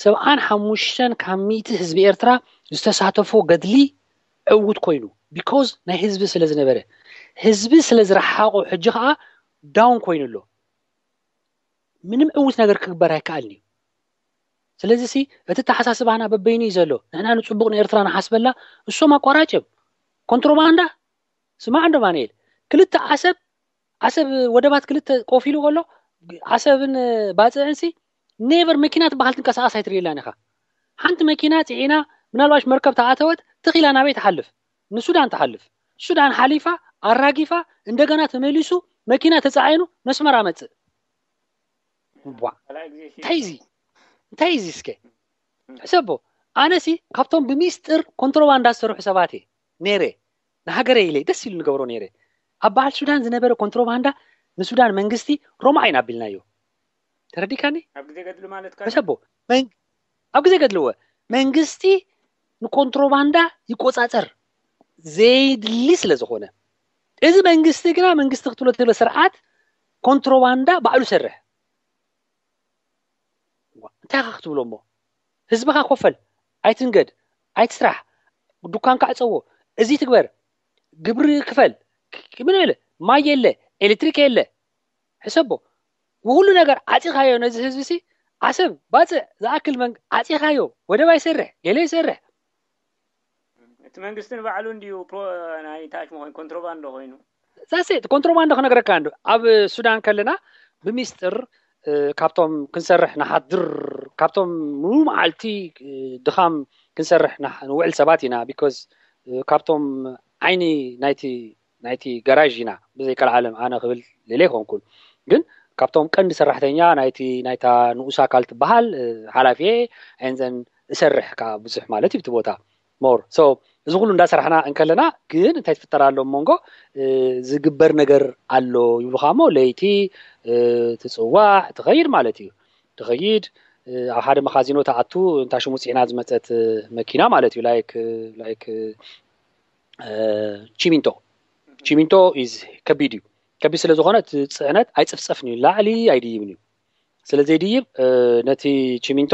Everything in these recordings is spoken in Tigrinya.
ሰብዓን ሓሙሽተን ካብ ሚእቲ ህዝቢ ኤርትራ ዝተሳተፎ ገድሊ ዕውት ኮይኑ፣ because ናይ ህዝቢ ስለ ዝነበረ፣ ህዝቢ ስለ ዝረሓቆ፣ ሕጂ ከዓ ዳውን ኮይኑ ኣሎ። ምንም ዕውት ነገር ክግበር ኣይከኣልን እዩ። ስለዚ ሲ እቲ ተሓሳስባና በበይኑ እዩ ዘሎ። ንሕና ንፅቡቅ ንኤርትራ ንሓስበላ፣ እሶም ኣቋራጭ እዮም። ኮንትሮባንዳ፣ ስማዕ እንዶ ማንኤል፣ ክልተ ዓሰብ ዓሰብ ወደባት ክልተ ቆፊሉ ከሎ፣ ዓሰብን ባፅዕን ሲ ኔቨር መኪና ትበሃል ትንቀሳቐስ ኣይትርእየላን ኢኻ። ሓንቲ መኪና ፅዒና ምናልባሽ መርከብ ተኣተወት ትኺላ ናበይ ትሓልፍ? ንሱዳን ትሓልፍ። ሱዳን ሓሊፋ ኣራጊፋ እንደገና ተመሊሱ መኪና ተፃዒኑ ነስመራ መፅእ። ዋ እንታይ እዚ እንታይ እዚ እስከ ሕሰቦ። ኣነሲ ካብቶም ብሚስጥር ኮንትሮባንዳ ዝሰርሑ ሰባት እየ ነይረ። ንሃገረ ኢለ ደስ ኢሉ ንገብሮ ነይረ። ኣብ በዓል ሱዳን ዝነበረ ኮንትሮባንዳ ንሱዳን መንግስቲ ሮማዕ ኢና ኣቢልናዮ። ተረዲካኒ? ኣብ ግዜ ገድሉ ማለት ካን ሕሰቦ መን- ኣብ ግዜ ገድልወ መንግስቲ ንኮንትሮባንዳ ይቆፃፀር ዘይድሊ ስለ ዝኾነ፣ እዚ መንግስቲ ግና መንግስቲ ክትብሎ ትብለ ስርዓት ኮንትሮባንዳ ባዕሉ ሰርሕ። እንታይ ኢኻ ክትብሎ እሞ? ህዝብኻ ኮፈል፣ ኣይትንገድ፣ ኣይትስራሕ፣ ዱካንካ ዕፀዎ፣ እዚ ትግበር፣ ግብሪ ክፈል፣ ምን ኢለ ማይ የለ፣ ኤሌክትሪክ የለ። ሕሰቦ፣ ብኩሉ ነገር ዓፂኻዮ ነዚ ህዝቢ ሲ ዓሰብ ባፅዕ ዝኣክል መን ዓፂኻዮ፣ ወደብ ኣይሰርሕ፣ ገለ ይሰርሕ። እቲ መንግስቲ ንባዕሉ እንዲዩ ፕሮ ናይ ታች መኾን ኮንትሮባንዶ ኮይኑ ዛሴ ኮንትሮባንዶ ክነግረካ እንዶ ኣብ ሱዳን ከለና ብሚስጥር እ፣ ካብቶም ክንሰርሕ ንሓድር ካብቶም ሙሉ መዓልቲ እ፣ ድኻም ክንሰርሕ ንሕ- ንውዕል ሰባት ኢና because እ፣ ካብቶም ዓይኒ ናይቲ ናይቲ ገራዥ ኢና ብዘይ ቀልዓለም ኣነ ክብል ልለ ይኮንኩን ግን ካብቶም ቀንዲ ሰራሕተኛ ናይቲ ናይታ ንኡስ ኣካል ትበሃል እ፣ ሓላፊየ and then እሰርሕ ከዓ ብዙሕ ማለት እዩ እቲ ቦታ more so እዚ ኩሉ እንዳሰራሕና እንከለና ግን እንታይ ትፍጠር ኣሎ ኣብ መንጎ እ፣ ዝግበር ነገር ኣሎ ይብሉካ እሞ ለይቲ እ፣ ትፅዋዕ ትኸይድ ማለት እዩ ትኸይድ እ፣ ኣብ ሓደ መኻዚኖ ተኣቱ እንታይ ሽሙ ፅዒና ዝመፀት እ፣ መኪና ማለት እዩ like like እ፣ ቺሚንቶ ቺሚንቶ is ከቢድ እዩ ከቢድ ስለ ዝኾነ እቲ ፅዕነት ኣይፅፍፀፍን እዩ ላዕሊ ኣይድይብን እዩ ስለ ዘይድይብ እ፣ ነቲ ቺሚንቶ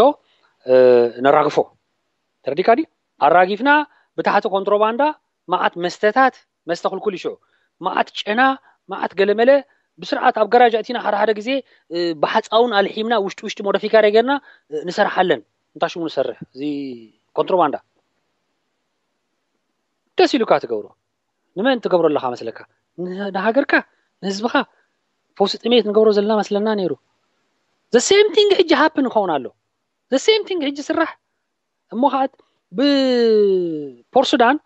እ፣ ነራግፎ ተረዲካ ድዩ ኣራጊፍና ብታሕቲ ኮንትሮባንዳ መዓት መስተታት መስተ ክልኩል ይሽዑ መዓት ጨና መዓት ገለመለ ብስርዓት ኣብ ገራጅ ኣእቲና ሓደ ሓደ ግዜ እ፣ ብሓፃውን ኣልሒምና ውሽጢ ውሽጢ ሞደፊካሪ ገርና እ፣ ንሰርሓለን እንታይ ሽሙ ንሰርሕ እዚ ኮንትሮባንዳ ደስ ኢሉካ ትገብሮ ንመን ትገብሮ ኣለካ መስለካ ን- ንሃገርካ ንህዝብካ ፈውሲ ጥሜት ንገብሮ ዘለና መስለና ነይሩ the same thing ሕጂ ሃፕን ይኸውን ኣሎ the same thing ሕጂ ስራሕ እሞ ከዓት ብፖርሱዳን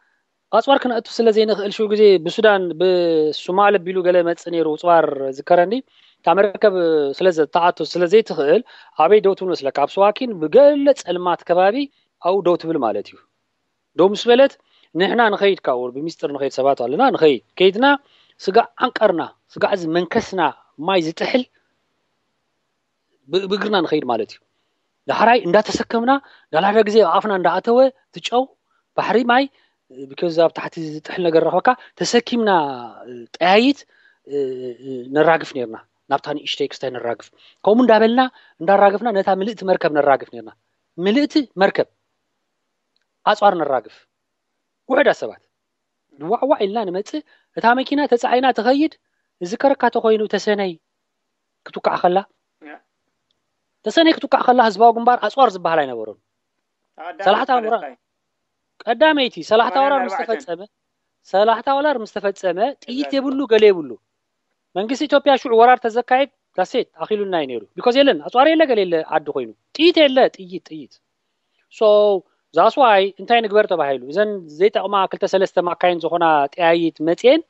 ኣፅዋር ክነእቱ ስለ ዘይንኽእል ሽው ግዜ ብሱዳን ብሱማል ኣቢሉ ገለ መፅእ ነይሩ ፅዋር ዝከረኒ እታ መርከብ ስለ ዝተኣቱ ስለ ዘይትኽእል ኣበይ ደው ትብል መስለካ ኣብ ስዋኪን ብገለ ፀልማት ከባቢ ኣብኡ ደው ትብል ማለት እዩ ደው ምስ በለት ንሕና ንኸይድ ካብኡ ብሚስጥር ንኸይድ ሰባት ኣለና ንኸይድ ከይድና ስጋዕ ዓንቀርና ስጋዕ እዚ መንከስና ማይ ዝጥሕል ብ- ብእግርና ንኸይድ ማለት እዩ ዳሕራይ እንዳተሰከምና ዳላዳ ግዜ ኣብ ኣፍና እንዳኣተወ ትጨው ባሕሪ ማይ because ኣብ ታሕቲ ዝጥሕል ነገር ረኽበካ ተሰኪምና ጠያይት ነራግፍ ነርና ናብታ ንእሽተይ ክስታይ ነራግፍ ከምኡ እንዳበልና እንዳራግፍና ነታ ምልእቲ መርከብ ነራግፍ ነርና ምልእቲ መርከብ ኣፅዋር ነራግፍ ውሕዳት ሰባት ንዋዕዋዕ ኢልና ንመፅእ እታ መኪና ተፃዒና ትኸይድ ዝከረካ ተኮይኑ ተሰነይ ክትውካዕ ከላ ተሰነይ ክትውካዕ ከላ ህዝባዊ ግንባር ኣፅዋር ዝበሃል ኣይነበሮን ሰላሕታ ወራር ቀዳመይቲ ሰላሕታ ወራር ምስ ተፈፀመ ሰላሕታ ወራር ምስ ተፈፀመ ጥይት የብሉ ገለ የብሉ መንግስቲ ኢትዮጵያ ሽዑ ወራር ተዘካየድ ዳሴት ኣኪሉና እዩ ነይሩ because የለን ኣፅዋር የለ ገለ የለ ዓዲ ኮይኑ ጥይት የለ ጥይት ጥይት so that's why እንታይ ንግበር ተባሂሉ እዘን ዘይጠቕማ ክልተ ሰለስተ ማካይን ዝኾና ጠያይት መፅየን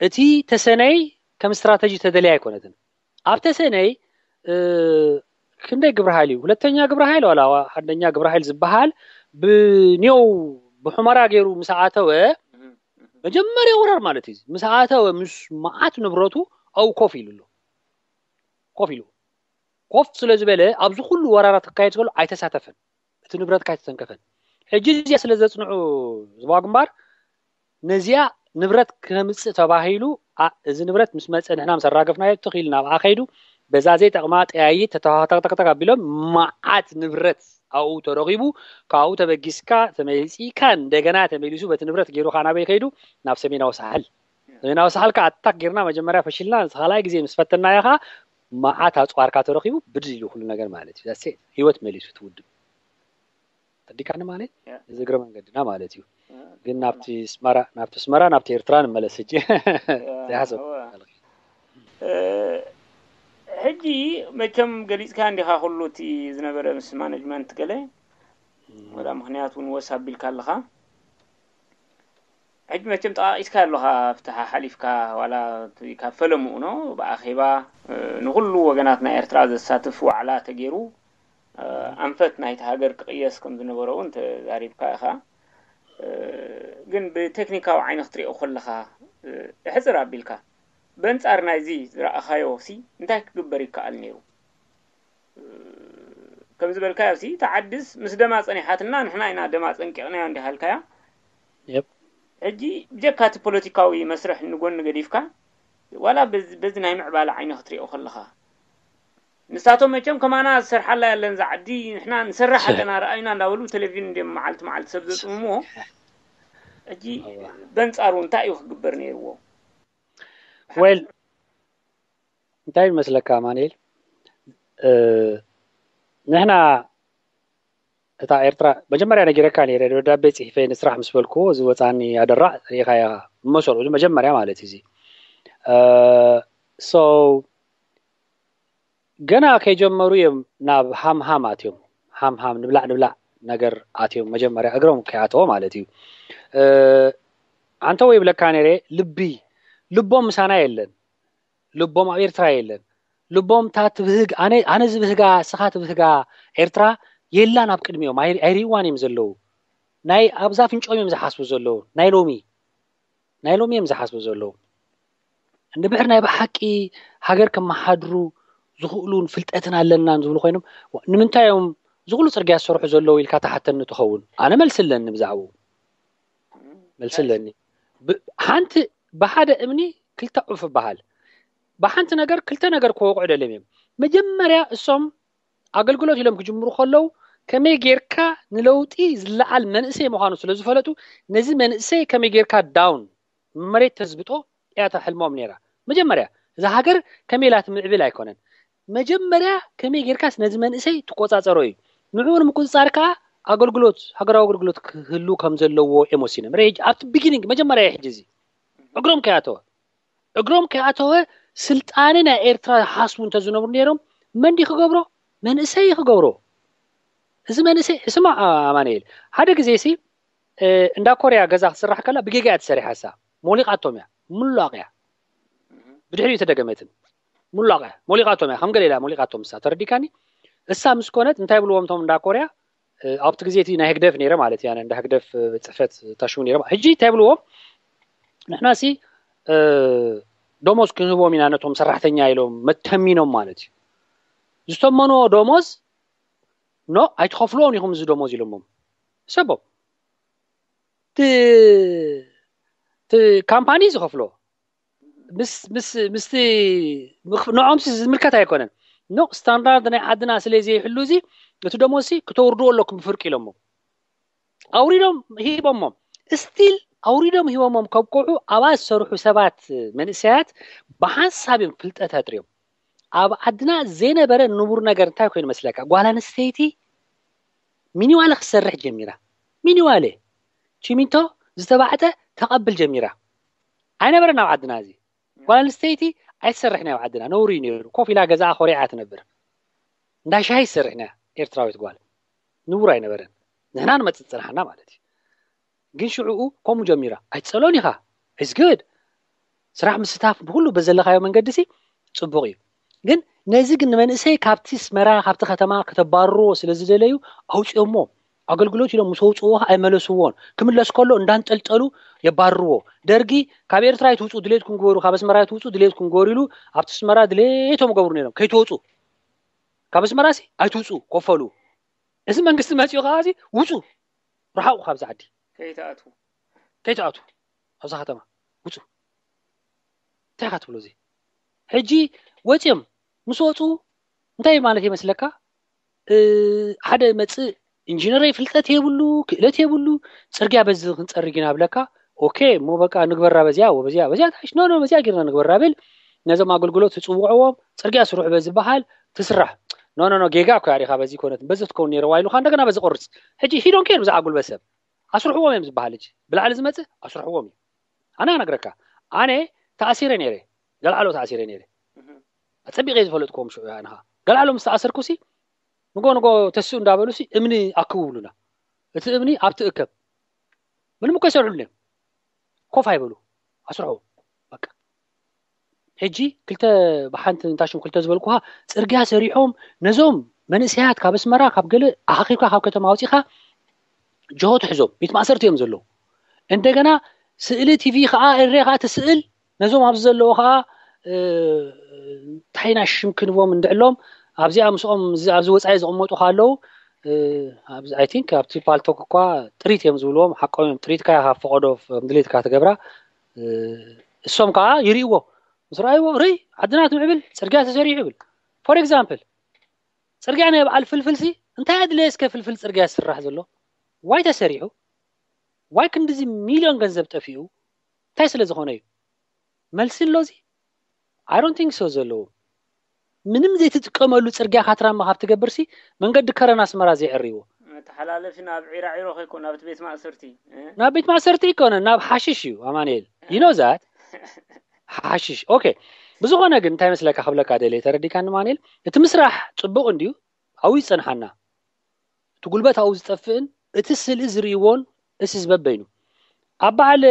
እቲ ተሰነይ ከም ስትራተጂ ተደልያ ኣይኮነትን ኣብ ተሰነይ ክንደይ ግብረ ሓይል እዩ ሁለተኛ ግብረ ሓይል ዋላ ሓደኛ ግብረ ሓይል ዝበሃል ብኔው ብሑመራ ገይሩ ምስ ኣተወ መጀመርያ ወራር ማለት እዩ ምስ ኣተወ ምስ መዓት ንብረቱ ኣው ኮፍ ኢሉ ኣሎ ኮፍ ኢሉ ኮፍ ስለ ዝበለ ኣብዚ ኩሉ ወራራት ክካየድ ዝከሎ ኣይተሳተፈን እቲ ንብረትካ ኣይተተንከፈን ሕጂ እዚኣ ስለ ዘፅንዑ ዝባ ግንባር ነዚኣ ንብረት ከምፅእ ተባሂሉ እዚ ንብረት ምስ መፀ ንሕና ምስ ኣራገፍናዮ ትኽኢል ናብኣ ከይዱ በዛ ዘይጠቕማ ጠያይት ተተኸተክተክተክ ኣቢሎም መዓት ንብረት ኣብኡ ተረኺቡ። ካብኡ ተበጊስካ ተመሊፅካ እንደገና ተመሊሱ በቲ ንብረት ገይሩ ከዓ ናበይ ከይዱ? ናብ ሰሜናዊ ሳሕል። ሰሜናዊ ሳሕል ከዓ ኣታክ ጌርና መጀመርያ ፈሽልና፣ ንስ ካልኣይ ግዜ ምስ ፈተናዮ ከዓ መዓት ኣፅዋርካ ተረኺቡ፣ ብድል ኢሉ ኩሉ ነገር ማለት እዩ። ዛሴ ህይወት መሊሱ ትውድብ። ተዲካኒ ማለት እዚ እግረ መንገድና ማለት እዩ። ግን ናብቲ ስመራ ናብቲ ስመራ ናብቲ ኤርትራ ንመለስ ሕጂ። ዘይሓሰብ ሕጂ መቸም ገሊፅካ እንዲኻ ኩሉ እቲ ዝነበረ ምስ ማነጅመንት ገለ ወላ ምክንያት እውን ወስ ኣቢልካ ኣለኻ። ሕጂ መቸም ጠቃቂስካ ኣለኻ፣ ኣብቲ ሓሓሊፍካ ዋላ እቲ ካብ ፈለምኡ ኖ ብኣኼባ ንኩሉ ወገናት ናይ ኤርትራ ዘሳትፍ ዋዕላ ተገይሩ ኣንፈት ናይቲ ሃገር ክቕየስ ከም ዝነበሮ እውን ተዛሪብካ ኢኻ። ግን ብቴክኒካዊ ዓይኒ ክትሪኦ ከለኻ፣ ሕፅር ኣቢልካ በንጻር ናይዚ ዝረኣኻዮ ሲ እንታይ ክግበር ይከኣል ነይሩ? ከም ዝበልካዮ ሲ እታ ዓድስ ምስ ደማ ጸኒሓትና ንሕና ኢና ደማ ጸንቂቕናዮ እንዲሃልካያ። ሕጂ ብጀካ እቲ ፖለቲካዊ መስርሕ ንጎኒ ገዲፍካ ዋላ በዚ ናይ ምዕባለ ዓይኒ ክትሪኦ ከለኻ ንሳቶም መቸም ከማና ዝሰርሓላ ያለን ዝዓዲ ንሕና ንሰርሕ ኣለና ረኣዩና እንዳበሉ ቴሌቪዥን እንዲም መዓልቲ መዓልቲ ሰብ ዘፅምምዎ። ሕጂ በንጻሩ እንታይ እዩ ክግበር ነይርዎ? ወል እንታይ ይመስለካ ኣማኑኤል? ንሕና እታ ኤርትራ መጀመርያ ነጊረካ ነይረ፣ ደብዳቤ ጽሒፈ ንስራሕ ምስ በልኩዎ እዚ ወጻኒ ኣደራዕ ርኢኻያ መሰሉ እዚ መጀመርያ ማለት እዩ። እዚ so ገና ከይጀመሩ እዮም ናብ ሃምሃም ኣትዮም። ሃምሃም ንብላዕ ንብላዕ ነገር ኣትዮም መጀመርያ እግሮም ከይኣተዎ ማለት እዩ። ኣንተ ወይ ብለካ ነይረ ልቢ ልቦም ምሳና የለን። ልቦም ኣብ ኤርትራ የለን። ልቦም እታ ትብህግ ኣነ ኣነ ዝብህጋ ስኻ ትብህጋ ኤርትራ የላን ኣብ ቅድሚኦም ኣይርይዋን እዮም ዘለዉ። ናይ ኣብዛ ፍንጮም እዮም ዝሓስቡ ዘለዉ። ናይ ሎሚ ናይ ሎሚ እዮም ዝሓስቡ ዘለዉ። እንድሕር ናይ ብሓቂ ሃገር ከመሓድሩ ዝኽእሉን ፍልጠትን ኣለናን ዝብሉ ኮይኖም ንምንታይ እዮም ዝኽሉ ፅርግያ ዝሰርሑ ዘለዉ ኢልካ ተሓተኒ ትኸውን? ኣነ መልሲ ኣለኒ ብዛዕባኡ። መልሲ ኣለኒ። ሓንቲ ብሓደ እምኒ ክልተ ዑፍ ይበሃል። ብሓንቲ ነገር ክልተ ነገር ክወቕዑ ደልዮም እዮም። መጀመርያ እሶም ኣገልግሎት ኢሎም ክጅምሩ ከለዉ ከመይ ጌርካ ንለውጢ ዝለዓል መንእሰይ ምዃኑ ስለ ዝፈለጡ ነዚ መንእሰይ ከመይ ጌርካ ዳውን መሬት ተዝብጦ እያ እታ ሕልሞም ነይራ። መጀመርያ እዛ ሃገር ከመይ ኢላ ትምዕብል ኣይኮነን። መጀመርያ ከመይ ጌርካስ ነዚ መንእሰይ ትቆጻጸሮ እዩ። ንዕኡ ንምቁጽጻር ከኣ ኣገልግሎት ሃገራዊ ኣገልግሎት ክህሉ ከም ዘለዎ እዮም ወሲኖም። ርእ ኣብቲ ቢጊኒንግ መጀመርያ ሕጂ እዚ እግሮም ከይኣተወ እግሮም ከይኣተወ ስልጣነ ናይ ኤርትራ ሓስቡ እንተዝነብሩ ነይሮም መን ድዩ ክገብሮ? መንእሰይ እዩ ክገብሮ። እዚ መንእሰይ ስማ ኣማኑኤል ሓደ ግዜ ሲ እንዳ ኮርያ ገዛ ክትስራሕ ከላ ብጌጋ እያ ተሰሪሓሳ። ሞሊቓቶም እያ ሙላቕ እያ። ብድሕሪኡ ተደገመትን ሙላቕ እያ ሞሊቓቶም እያ። ከም ገለ ኢላ ሞሊቓቶም እሳ ተረዲካኒ። እሳ ምስ ኮነት እንታይ ብልዎም እቶም እንዳ ኮርያ ኣብቲ ግዜ እቲ ናይ ህግደፍ ነይረ ማለት እያ። እንዳ ህግደፍ ጽሕፈት ታሽሙ ነይረ። ሕጂ እንታይ ብልዎም ንሕና ሲ ደሞዝ ክንህቦም ኢና ነቶም ሰራሕተኛ ኢሎም መተሚኖም ማለት እዩ። ዝተመኖ ደሞዝ ኖ ኣይትኸፍልዎን ኢኹም እዚ ደሞዝ ኢሎሞም ሰቦም ካምፓኒ ዝኸፍሎ ምስቲ ንዖምሲ ዝምልከት ኣይኮነን። ኖ ስታንዳርድ ናይ ዓድና ስለ ዘይሕሉ እዚ እቲ ደሞዝሲ ክተውርድዎ ኣለኩም ብፍርቂ ኢሎሞ ኣውሪዶም ሂቦሞም ስቲል ኣውሪዶም ሂቦሞም ከብቅዑ ኣብኣ ዝሰርሑ ሰባት መንእሰያት ብሓንሳብ እዮም ፍልጠት ኣጥርዮም። ኣብ ዓድና ዘይነበረ ንቡር ነገር እንታይ ኮይኑ መስለካ? ጓል ኣንስተይቲ ሚኒዋለ ክትሰርሕ ጀሚራ። ሚኒዋለ ቺሚንቶ ዝተባዕጠ ተቐብል ጀሚራ። ኣይነበረን ኣብ ዓድና እዚ። ጓል ኣንስተይቲ ኣይትሰርሕን እያ ኣብ ዓድና፣ ነውሪ እዩ ነይሩ። ኮፍ ኢላ ገዛኣ ኮሪዓ ትነብር። እንዳ ሻሂ ትሰርሕ እያ ኤርትራዊት ጓል። ንቡር ኣይነበረን። ንሕና ንመጽእ ዝጸናሕና ማለት እዩ። ግን ሽዑኡ ከምኡ ጀሚራ። ኣይትጸልኦን ኢኻ። It's good። ስራሕ ምስታፍ ብኩሉ በዘለኻዮ መንገዲ ሲ ጽቡቕ እዩ። ግን ነዚ ግን ንመንእሰይ ካብቲ ኣስመራ ካብቲ ከተማ ከተባርርዎ ስለ ዝደለዩ ኣውጺኦሞ። ኣገልግሎት ኢሎም ምስ ኣውጽእዎ ኣይመለስዎን። ክምለስ ከሎ እንዳንጠልጠሉ የባርርዎ። ደርጊ ካብ ኤርትራ ኣይትውጹ ድሌትኩም ግበሩ፣ ካብ ኣስመራ ኣይትውጹ ድሌትኩም ግበሩ ኢሉ ኣብቲ ኣስመራ ድሌቶም ገብሩ ነይሮም። ከይትወጹ ካብ ኣስመራ ሲ ኣይትውጹ ኮፈሉ። እዚ መንግስቲ መጺኡ ከዓ እዚ ውጹ ርሓቑ ካብዚ ዓዲ ከይትኣትዉ ከይትኣትዉ ኣብዛ ከተማ ውጹ እንታይ ኢኻ ትብሎ እዚ ሕጂ ወፂኦም ምስ ወፁ እንታይ ማለት ይመስለካ? ሓደ መፅእ ኢንጂነር ፍልጠት የብሉ፣ ክእለት የብሉ፣ ፅርግያ በዚ ክንፀርግ ኢና ብለካ። ኦኬ፣ እሞ በቃ ንግበራ በዚያ ወበዚያ በዚያ ታሽ ኖ ኖ በዚያ ጌርና ንግበራ ብል። ነዞም ኣገልግሎት ትፅውዕዎም፣ ፅርግያ ስርሑ በዚ በሃል ትስራሕ። ኖ ኖ ኖ፣ ጌጋ እኮ ያሪኻ፣ በዚ ኮነት በዚ ትከውን ነይረዋ ኢሉካ እንደገና በዚ ቆርፅ። ሕጂ ሂዶን ኬር ብዛዕባ ጉልበት ሰብ ኣስርሕዎም እዮም ዝበሃል። ሕጂ ብላዕሊ ዝመፅእ ኣስርሕዎም እዩ። ኣነ ኣነግረካ፣ ኣነ ተኣሲረ ነይረ፣ ገለዓሎ ተኣሲረ ነይረ። ኣፀቢቐ ዝፈለጥክዎም ሽዑ ኣንኻ ገለዓሎ ምስ ተኣሰርኩሲ ንጎ ንጎ ተስኡ እንዳበሉሲ እምኒ ኣክቡ ብሉና። እቲ እምኒ ኣብቲ እከብ ምንም እኮ ይሰርሑልና እዮም። ኮፍ ኣይበሉ፣ ኣስርሑ በቃ። ሕጂ ክልተ ብሓንቲ እንታሽም ክልተ ዝበልኩኻ ፅርግያ ሰሪሖም ነዞም መንእሰያት ካብ ኣስመራ ካብ ገለ ኣኻኺብካ ካብ ከተማ ኣውፂኻ ጆሆ ትሕዞም ቤት ማእሰርቲ እዮም ዘለዉ። እንደገና ስእሊ ቲቪ ከዓ እሬ ከዓ ትስእል ነዞም ኣብዚ ዘለዉ ከዓ ታይና ሽም ክንዎም እንድዕሎም ኣብዚኣ ምስኦም ኣብዚ ወፃኢ ዝቕመጡ ከለዉ ኣይ ቲንክ ኣብቲ ፓልቶክ እኳ ጥሪት እዮም ዝብልዎም። ሓቆም እዮም። ጥሪትካ ኢኻ ፈቐዶ ከም ድሌትካ ትገብራ። እሶም ከዓ ይርእይዎ። ምስ ረኣይዎ ርይ ዓድና ትምዕብል ፅርግያ ተሰሪሑ ይብል። ፎር ኤግዛምፕል ፅርግያ ናይ በዓል ፍልፍልሲ እንታይ ኣድለየ እስከ ፍልፍል ፅርግያ ዝስራሕ ዘሎ? ዋይ ተሰሪሑ? ዋይ ክንድዚ ሚልዮን ገንዘብ ጠፊኡ? እንታይ ስለ ዝኾነ እዩ? መልሲ ኣሎ እዚ? I don't think so ዘለዎም። ምንም ዘይትጥቀመሉ ፅርግያ ካትራማ ካብ ትገብርሲ መንገዲ ከረን ኣስመራ ዘይዕርይዎ። መተሓላለፊ ናብ ዒራዒሮ ከይኮን ናብ ቤት ማእሰርቲ ናብ ቤት ማእሰርቲ ይኮነ ናብ ሓሽሽ እዩ ኣማንኤል። You know that ሓሽሽ okay። ብዝኾነ ግን እንታይ መስለካ ክብለካ ደልየ ተረዲካኒ ማንኤል፣ እቲ ምስራሕ ፅቡቕ እንድዩ ኣብኡ ይፀንሓና። እቲ ጉልበት ኣብኡ ዝጠፍእን እቲ ስእሊ ዝርእይዎን እሲ ዝበበይኑ ኣብ በዓል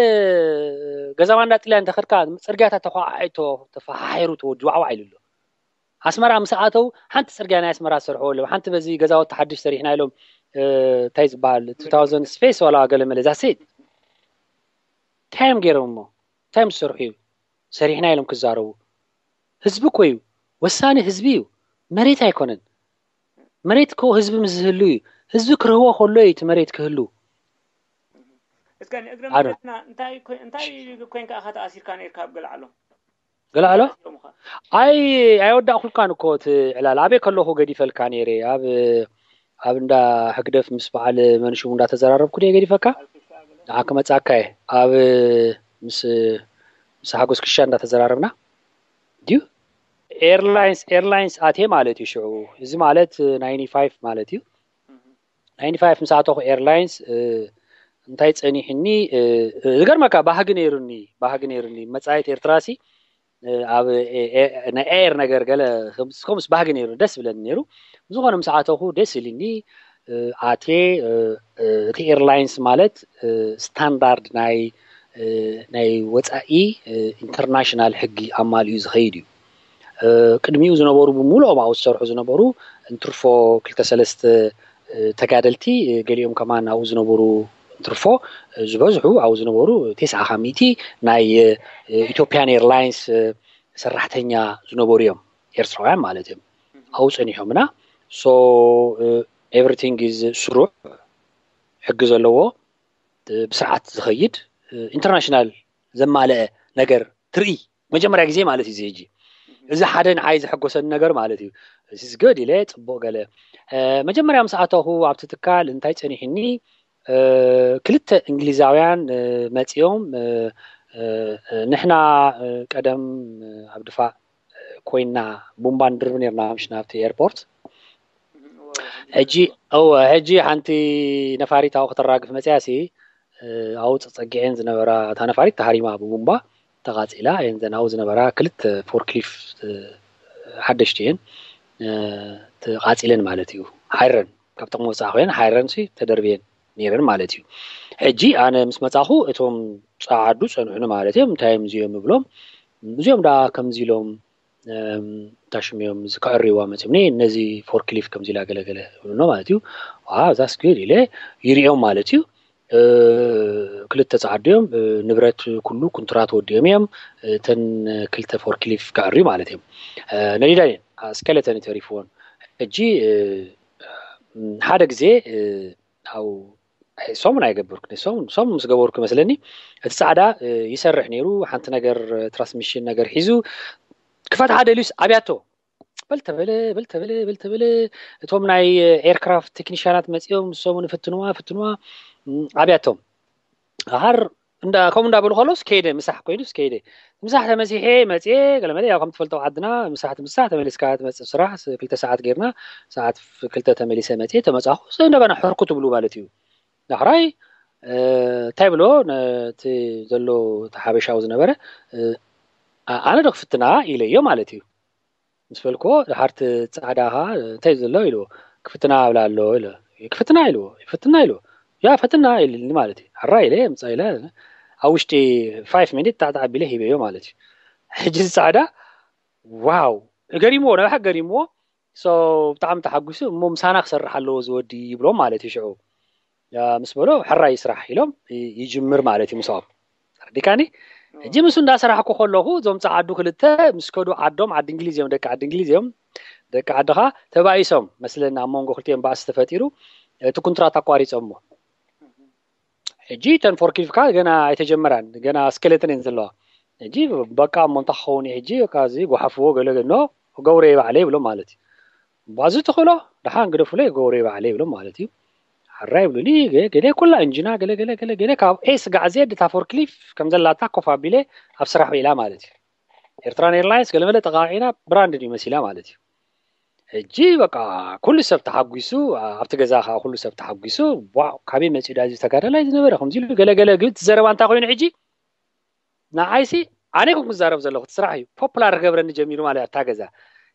ገዛ ማንዳ ጥልያን እንተኸድካ ፅርግያታት ተኳዓዒቶ ተፈሓሒሩ ተወዲ ዋዕዋዕ ኢሉ ኣሎ። ኣስመራ ምስ ኣተው ሓንቲ ፅርግያ ናይ ኣስመራ ዝሰርሕዎ ኣለዉ። ሓንቲ በዚ ገዛውቲ ሓድሽ ሰሪሕና ኢሎም እንታይ ዝበሃል two thousand space ዋላ ገለ መለ ዛሴት እንታይ እዮም ገይሮም እሞ እንታይ ምስ ዝሰርሑ እዩ ሰሪሕና ኢሎም ክዛረቡ? ህዝቢ እኮ እዩ ወሳኒ፣ ህዝቢ እዩ፣ መሬት ኣይኮነን። መሬት እኮ ህዝቢ ምስ ዝህሉ እዩ። ህዝቢ ክርህዎ ከሎ እዩ እቲ መሬት ክህሉ። እስከ ንእግረ መለስና እንታይ ኮይ- እንታይ ኮይንካ ኢኻ ተኣሲርካ ነርካ ኣብ ገለዓሎ? ገለዓሎ ኣይ ኣይወዳእኩልካን እኮ እቲ ዕላል ኣበይ ከለኹ ገዲፈልካ ነይረ ኣብ ኣብ እንዳ ህግደፍ ምስ በዓል መንሽሙ እንዳተዘራረብኩ ድየ ገዲፈካ? ንዓ ክመጻካ እየ ኣብ ምስ ምስ ሓጎስ ክሻ እንዳተዘራረብና ድዩ ኤርላይንስ ኤርላይንስ ኣትየ ማለት እዩ ሽዑ እዚ ማለት ናይንቲ ፋይቭ ማለት እዩ ናይንቲ ፋይቭ ምስ ኣተኹ ኤርላይንስ እንታይ ጸኒሕኒ ዝገርመካ ባህጊ ነይሩኒ ባህጊ ነይሩኒ መጻኢት ኤርትራሲ ኣብ ናይ ኤር ነገር ገለ ከምስ ባህጊ ነይሩ ደስ ብለኒ ነይሩ ብዝኾነ ምስ ኣተኹ ደስ ኢልኒ ኣቴ እቲ ኤርላይንስ ማለት ስታንዳርድ ናይ ናይ ወፃኢ ኢንተርናሽናል ሕጊ ኣማሊኡ ዝኸይድ እዩ ቅድሚኡ ዝነበሩ ብምሉኦም ኣብኡ ዝሰርሑ ዝነበሩ እንትርፎ ክልተ ሰለስተ ተጋደልቲ ገሊኦም ከማን ኣብኡ ዝነበሩ እንትርፎ ዝበዝሑ ኣብኡ ዝነበሩ ተስዓ ካብ ሚእቲ ናይ ኢትዮጵያን ኤርላይንስ ሰራሕተኛ ዝነበሩ እዮም ኤርትራውያን ማለት እዮም ኣብኡ ፀኒሖምና so everything is ስሩዕ ሕጊ ዘለዎ ብስርዓት ዝኸይድ ኢንተርናሽናል ዘማለአ ነገር ትርኢ መጀመርያ ግዜ ማለት እዩ ሕጂ እዚ ሓደ ንዓይ ዘሐጎሰኒ ነገር ማለት እዩ እዚ good ኢለ ፅቡቅ ገለ መጀመርያ ምስ ኣተኹ ኣብቲ ትካል እንታይ ፀኒሕኒ ክልተ እንግሊዛውያን መፂኦም ንሕና ቀደም ኣብ ድፋዕ ኮይና ቡምባ ንድርብ ነርና ምሽ ናብቲ ኤርፖርት ሕጂ እወ ሕጂ ሓንቲ ነፋሪት ኣብኡ ከተራግፍ መፅያ ሲ ኣብኡ ፀፀጊዐን ዝነበራ እታ ነፋሪት ተሃሪማ ብቡምባ ተቃፂላ እየን ዘን ኣብኡ ዝነበራ ክልተ ፎርክሊፍ ሓደሽቲ እየን ተቃፂለን ማለት እዩ ሓረን ካብ ጥቅሚ ወፃኢ ኮይነን ሓረን ሲ ተደርብየን ነይረን ማለት እዩ ሕጂ ኣነ ምስ መፃኹ እቶም ፀዓዱ ፀንሑኒ ማለት እዮም እንታይ እዮም እዚኦም እብሎም እዚኦም ዳ ከምዚ ኢሎም ታሽም እዮም እዚ ከዕርይዋ መፅምኒ ነዚ ፎርክሊፍ ከምዚ ኢላ ገለገለ ይብልኖ ማለት እዩ that's good ኢለ ይሪኦም ማለት እዩ ክልተ ፀዓዱ እዮም ንብረት ኩሉ ኩንትራት ወዲኦም እዮም እተን ክልተ ፎርክሊፍ ከዕርዩ ማለት እዮም ነዲዳ እየን ስኬለተን ተሪፍዎን ሕጂ ሓደ ግዜ ኣብ ሰሙን ኣይገብርኩ ሰሙን ምስ ገበርኩ መስለኒ እቲ ፃዕዳ ይሰርሕ ነይሩ ሓንቲ ነገር ትራንስሚሽን ነገር ሒዙ ክፈትሓ ደልዩስ ኣብያቶ በል ተበለ በል ተበለ በል ተበለ። እቶም ናይ ኤርክራፍት ቴክኒሽያናት መፂኦም፣ ንሶም እውን ፍትንዋ ፍትንዋ። ኣብያቶም ሃር እንዳ ከምኡ እንዳበሉ ከሎስ ከይደ፣ ምሳሕ ኮይኑስ ከይደ። ምሳሕ ተመሲሐ መፅየ። ገለመለ ያው ከም ትፈልጦ ዓድና ምሳሕ ምሳሕ ተመሊስካ ትመፅእ ስራሕ። ክልተ ሰዓት ጌርና፣ ሰዓት ክልተ ተመሊሰ መፅየ። ተመፃኹ እንደገና ሕርኩ ትብሉ ማለት እዩ። ዳሕራይ እንታይ ብሎ ነቲ ዘሎ እቲ ሓበሻዊ ዝነበረ፣ ኣነ ዶ ክፍትና ኢለዮ ማለት እዩ። ምስ በልክዎ፣ ድሓር እቲ ጻዕዳ ኸዓ እንታይ ዘሎ ኢልዎ። ክፍትና ኣብላ ኣሎ ኢለ። ክፍትና ኢልዎ። ይፍትና ኢልዎ። ያ ፈትና ኢልኒ ማለት እዩ። ሕራይ ኢለ ምጻ ኢለ ኣብ ውሽጢ ፋይቭ ሚኒት ጣዕጣዕ ኣቢለ ሂበዮ ማለት እዩ። ሕጂ እዚ ጻዕዳ ዋው፣ ገሪምዎ፣ ናይ ብሓቂ ገሪምዎ። ሶ ብጣዕሚ ተሓጒሱ። እሞ ምሳና ክሰርሕ ኣለዎ ዝወዲ ይብሎም ማለት እዩ። ሽዑ ምስ በሎ ሕራይ ስራሕ ኢሎም ይጅምር ማለት እዩ። ምስኦም ተረዲካኒ። ሕጂ ምስ እንዳሰራሕኩ ከለኹ እዞም ጸዓዱ ክልተ ምስ ከዱ ዓዶም፣ ዓዲ እንግሊዝ እዮም፣ ደቂ ዓዲ እንግሊዝ እዮም። ደቂ ዓድኻ ተባኢሶም መስለና፣ ኣብ መንጎ ክልቲኦም ባእሲ ተፈጢሩ፣ እቲ ኩንትራት ኣቋሪጾሞ። ሕጂ እተን ፎርክሊፍካ ገና ኣይተጀመራን፣ ገና ስኬለተን እየን ዘለዋ። ሕጂ በቃ እሞ እንታይ ክኸውን እዩ ሕጂ፣ በቃ እዚ ጓሓፍዎ ገለ ገኖ ገብረ ባዕለ ይብሎም ማለት እዩ። ባዚ ትኽእሎ ደሓን ግደፉለይ ገብረ ባዕለ ይብሎም ማለት እዩ። ሕራይ ይብሉኒ። ገ- ገለ ኩላ እንጂና ገለ ገለ ገለ ገለ ካብ ኤ ስጋዕ ዜድ እታ ፎርክሊፍ ከም ዘላታ ኮፍ ኣቢለ ኣብ ስራሕ ውዒላ ማለት እዩ። ኤርትራን ኤርላይንስ ገለመለ ጠቃቂና ብራንድ ድዩ መሲላ ማለት እዩ። ሕጂ በቃ ኩሉ ሰብ ተሓጒሱ፣ ኣብቲ ገዛ ከዓ ኩሉ ሰብ ተሓጒሱ። ዋው፣ ካበይ መፂኡ ዳዚ ተጋዳላይ ዝነበረ ከምዚ ኢሉ ገለ ገለ ግብል። እቲ ዘረባ እንታይ ኮይኑ ሕጂ ንዓይሲ ኣነ ኮንኩ ዝዛረብ ዘለኹ፣ እቲ ስራሕ እዩ ፖፕላር ክገብረኒ ጀሚሩ ማለት እያ እታ ገዛ።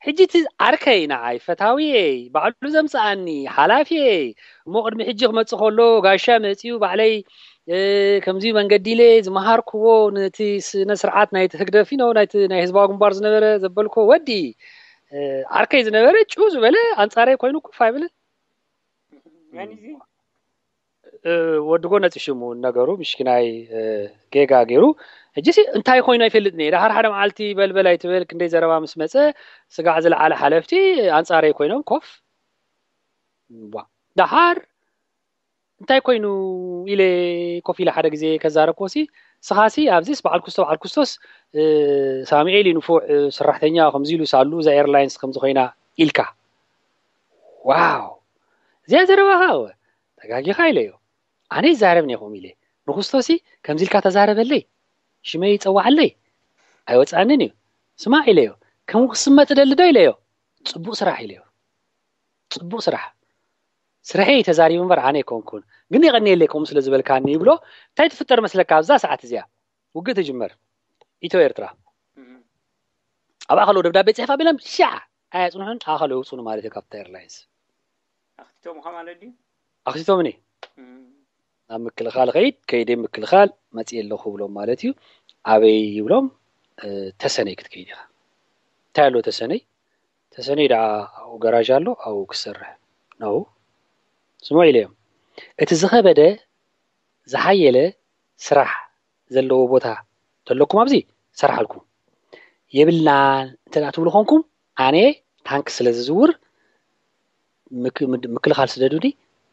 ሕጂ እቲ ዓርከይ ንዓይ ፈታዊየይ ባዕሉ ዘምፅኣኒ ሓላፊየይ፣ እሞ ቅድሚ ሕጂ ክመፅእ ከሎ ጋሻ መፂኡ ባዕለይ ከምዚ መንገዲ ኢለ ዝመሃርክዎ ነቲ ስነ ስርዓት ናይቲ ህግደፍ ነው ናይቲ ናይ ህዝባዊ ግንባር ዝነበረ ዘበልኮ ወዲ ዓርከይ ዝነበረ ጭው ዝበለ ኣንፃረይ ኮይኑ ኩፍ ኣይብልን። ወድጎ ነፂ ሽሙ ነገሩ ምሽኪናይ ጌጋ ገይሩ። ሕጂ ሲ እንታይ ኮይኑ ኣይፈልጥን እየ። ደሓር ሓደ መዓልቲ በልበል ኣይትበል፣ ክንደይ ዘረባ ምስ መፀ ስጋዕ ዝለዓለ ሓለፍቲ ኣንፃረይ ኮይኖም ኮፍ። ዋ፣ ደሓር እንታይ ኮይኑ ኢለ ኮፍ ኢለ ሓደ ግዜ ከዛረብኮ ሲ፣ ስኻሲ ኣብዚስ በዓል ኩስቶ በዓል ኩስቶስ ሳሙኤል እዩ ንፉዕ ሰራሕተኛ ከምዚ ኢሉ ሳሉ እዛ ኤርላይንስ ከምዚ ኮይና ኢልካ። ዋው፣ እዚኣ ዘረባኻ እወ ተጋጊኻ ኢለዮ። ኣነ ይዛረብ ነይኹም ኢለ ንኹስቶሲ ከምዚ ኢልካ ተዛረበለይ፣ ሽመይ ይፀዋዓለይ ኣይወፃንን እዩ። ስማዕ ኢለዮ፣ ከም ክስመጥ ደሊ ዶ ኢለዮ። ፅቡቅ ስራሕ ኢለዮ። ፅቡቅ ስራሕ። ስርሐይ ተዛሪቡ እምበር ኣነ ኣይኮንኩን። ግን የቐንየለይ ከምኡ ስለ ዝበልካኒ ይብሎ። እንታይ ትፍጠር መስለካ ኣብዛ ሰዓት እዚኣ ውግእ ትጅመር ኢትዮ ኤርትራ። ኣብኣ ከለዉ ደብዳቤ ፅሕፍ ኣቢሎም ሻዕ ኣያፅንሑን ኣኸለ ይውፅኑ ማለት እዩ ካብታ ኤርላይንስ። ኣኽቲቶምኻ ማለት ድዩ? ኣኽቲቶምኒ። ናብ ምክልኻል ኸይድ ከይደ ምክልኻል መፅእ ኣለኹ ብሎም ማለት እዩ። ኣበይ ይብሎም? ተሰነይ ክትከይድ ኢኻ። እንታይ ኣሎ ተሰነይ? ተሰነይ ደኣ ኣብኡ ገራዥ ኣሎ ኣብኡ ክሰርሕ ነው። ስምዑ ኢለዮም። እቲ ዝኸበደ ዝሓየለ ስራሕ ዘለዎ ቦታ ተለኩም ኣብዚ ሰርሓልኩም። የብልናን እንተ ትብሉ ኾንኩም ኣነ ታንክ ስለ ዝዝውር ምክልኻል ስደዱኒ።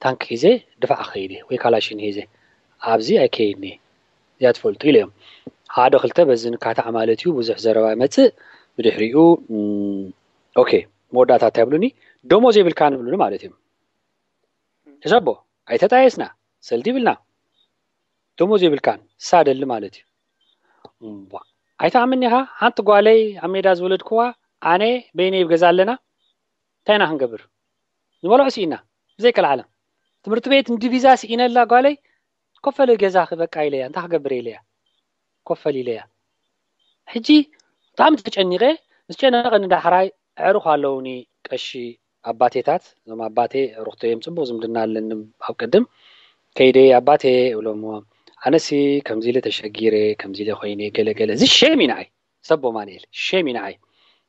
ታንክ ሒዘ ድፋዕ ክኸይድ ወይ ካላሽን ሒዘ ኣብዚ ኣይከይድኒ። እዚኣ ትፈልጡ ኢለዮም። ሓደ ክልተ በዚ ንካታዕ ማለት እዩ። ብዙሕ ዘረባ ይመፅእ። ብድሕሪኡ ኦኬ መወዳእታ እንታይ ይብሉኒ? ደሞዝ የብልካን ይብሉኒ ማለት እዮም። ሕሰቦ፣ ኣይተጣየስና፣ ሰልዲ ይብልና። ደሞዝ የብልካን ሳደሊ ማለት እዩ። እምቧ፣ ኣይትኣምን ኢኻ? ሓንቲ ጓለይ ኣብ ሜዳ ዝወለድክዋ ኣነ በይነይ ኣብ ገዛ ኣለና። እንታይ ኢና ክንገብር? ዝበልዖ ስኢና ብዘይ ቀልዓለም። ትምህርቲ ቤት ንዲቪዛ ስኢነላ ጓለይ ኮፈሊ ገዛኺ በቃ ኢለያ። እንታይ ክገብር ኢለያ? ኮፈል ኢለያ። ሕጂ ብጣዕሚ ተጨኒቐ። ምስ ጨነቐኒ ዳሕራይ ኣዕሩኽ ኣለውኒ ቀሺ ኣባቴታት። እዞም ኣባቴ ኣዕሩኽተይ እዮም፣ ፅቡቕ ዝምድና ኣለኒ። ኣብ ቅድም ከይደ ኣባቴ እብሎሞ ኣነሲ ከምዚ ኢለ ተሸጊረ ከምዚ ኢለ ኮይነ ገለ ገለ። እዚ ሼም እዩ ንዓይ። ሰብ ኣማኑኤል ሼም እዩ ንዓይ።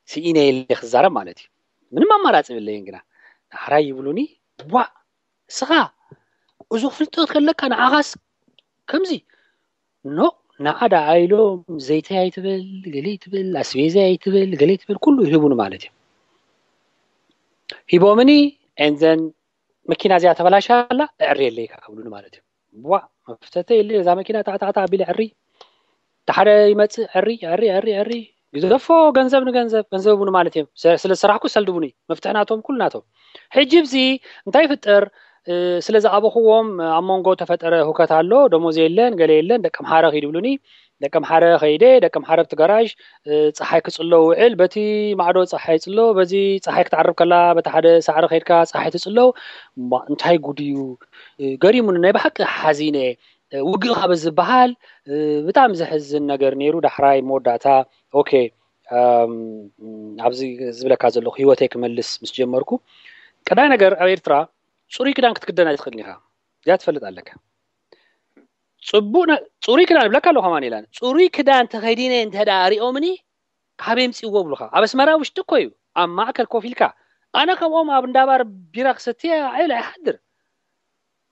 ስኢነ ኢለ ክዛረብ ማለት እዩ። ምንም ኣማራፂ የብለይን ግና ዳሕራይ ይብሉኒ ዋእ እስኻ እዞ ፍልጠት ከለካ ንዓኻስ ከምዚ ኖ ንዓ ደኣ ኢሎም ዘይተይ ኣይትበል ገለ ኣይትበል ኣስቤዛ ኣይትበል ገለ ኣይትበል ኩሉ ይህቡኒ ማለት እዮም። ሂቦምኒ and then መኪና እዚኣ ተበላሻ ኣላ እዕሪ የለይካ ክብሉኒ ማለት እዮም። ዋ መፍተተ የለ እዛ መኪና ታዕታዕታ ኣቢለ ዕሪ ሓደ ይመፅእ ዕሪ ዕሪ ዕሪ ዕሪ ግዘፎ፣ ገንዘብ ንገንዘብ፣ ገንዘብ ቡኒ ማለት እዮም። ስለ ዝሰራሕኩ ሰልዲ ቡኒ፣ መፍትሒ ናቶም፣ ኩሉ ናቶም። ሕጂ ብዚ እንታይ ይፍጠር? ስለ ዝኣበኽዎም ኣብ መንጎ ተፈጠረ ሁከት ኣሎ። ደሞዝ የለን፣ ገለ የለን። ደቂ ኣምሓረ ኪድ ይብሉኒ። ደቂ ኣምሓረ ከይደ፣ ደቂ ኣምሓረ ኣብቲ ጋራዥ ፀሓይ ክፅሎ ውዕል። በቲ ማዕዶ ፀሓይ ፅሎ፣ በዚ ፀሓይ ክትዓርብ ከላ በቲ ሓደ ሳዕሪ ከይድካ ፀሓይ ትፅሎ። እንታይ ጉድ እዩ? ገሪሙኒ፣ ናይ ብሓቂ ሓዚነ። ውግእ ካብ ዝበሃል ብጣዕሚ ዘሕዝን ነገር ነይሩ። ዳሕራይ መወዳእታ ኦኬ ኣብዚ ዝብለካ ዘለኹ ህይወተይ ክመልስ ምስ ጀመርኩ፣ ቀዳይ ነገር ኣብ ኤርትራ ፅሩይ ክዳን ክትክደን ኣይትኽእልን ኢኻ። እዚኣ ትፈልጥ ኣለካ። ፅቡቅ ነ- ፅሩይ ክዳን እብለካ ኣለኹ። ማን ኢላን ፅሩይ ክዳን ተኸዲነ እንተ ደኣ ሪኦምኒ፣ ካብ የምፅእዎ ብሉኻ። ኣብ ኣስመራ ውሽጢ እኮ እዩ፣ ኣብ ማእከል ኮፍ ኢልካ። ኣነ ከምኦም ኣብ እንዳባር ቢራ ክሰትየ ዓይል ኣይሓድር።